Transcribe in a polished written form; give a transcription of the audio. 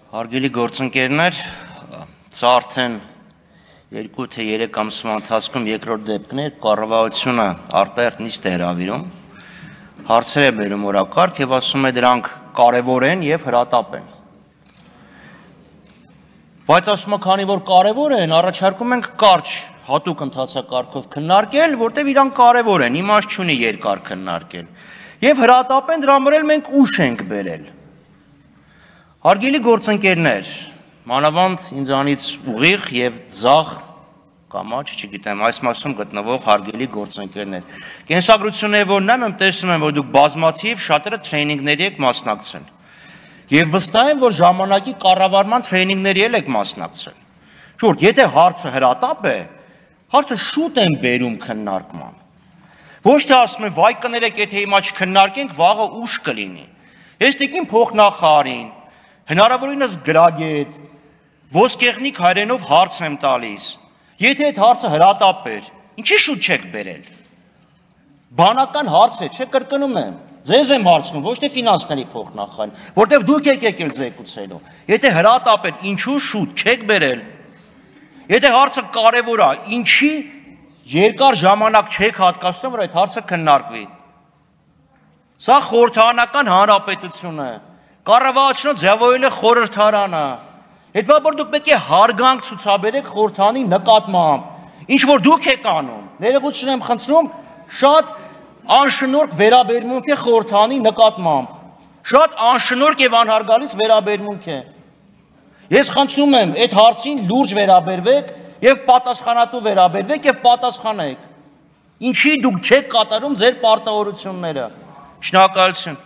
Հարգելի գործընկերներ, սա արդեն 2 թե 3 ամսվա ընթացքում երկրորդ դեպքն է, կառավարությունը արտահերթ նիստ է հրավիրում, հարցեր է բերում օրակարգ եւ ասում է դրանք կարևոր են եւ հրատապ են։ Բայց ասում է, քանի որ կարևոր են, առաջարկում ենք կարճ հատուկ ընթացակարգով քննարկել, որտեղ իրանք կարևոր են, իմաստ չունի երկար քննարկել։ Եվ հրատապ են, դրան վրա մենք ուշ ենք բերել։ Հարգելի գործընկերներ, մանավանդ ինձանից ուղիղ եւ ձախ կամաչ, չգիտեմ, այս մասում գտնվող հարգելի գործընկերներ։ Կենսագրությունները որ նայում եմ, տեսնում եմ, որ դուք բազմաթիվ շատերը տրեյնինգների եք մասնակցել։ Եվ վստահ եմ, որ ժամանակի կառավարման տրեյնինգների եք մասնակցել։ Շուրջ, եթե հարցը հրատապ է, հարցը շուտ են բերում քննարկման։ Ոչ թե ասում եմ, վայ կներեք, եթե հիմա չքննարկենք, վաղը ուշ կլինի։ Ես տիկին փոխնախարարին, հնարավորինս գրագետ, ոսկեղնիկ հայրենով հարց եմ տալիս, եթե այդ հարցը հրատապ էր, ինչի շուտ չեք բերել։ Բանական հարց է, չէ, կրկնում եմ, ձեզ եմ հարցնում, ոչ թե ֆինանսների փոխնախարարին, որտեղ դուք եք եկել զեկուցելու։ Եթե հրատապ էր, ինչու շուտ չեք բերել։ Եթե հարցը կարևոր է, ինչի երկար ժամանակ չեք հատկացնում, որ այդ հարցը քննարկվի։ Սա խորհրդարանական հանրապետություն է։ Կառավարությունը ձևավորել է խորհրդարանը։ Հետո դուք պետք է հարգանք ցուցաբերեք խորհրդանի նկատմամբ։ Ինչ որ դուք եք անում, ներողություն եմ խնդրում, շատ անշնորհք վերաբերմունք է խորհրդանի նկատմամբ։ Շատ անշնորհք եւ անհարգալից վերաբերմունք է։ Ես խնդրում եմ, այդ հարցին լուրջ վերաբերվեք եւ պատասխանատու վերաբերվեք եւ պատասխանեք։ Ինչի դուք չեք կատարում ձեր պարտավորությունները։ Շնորհակալություն։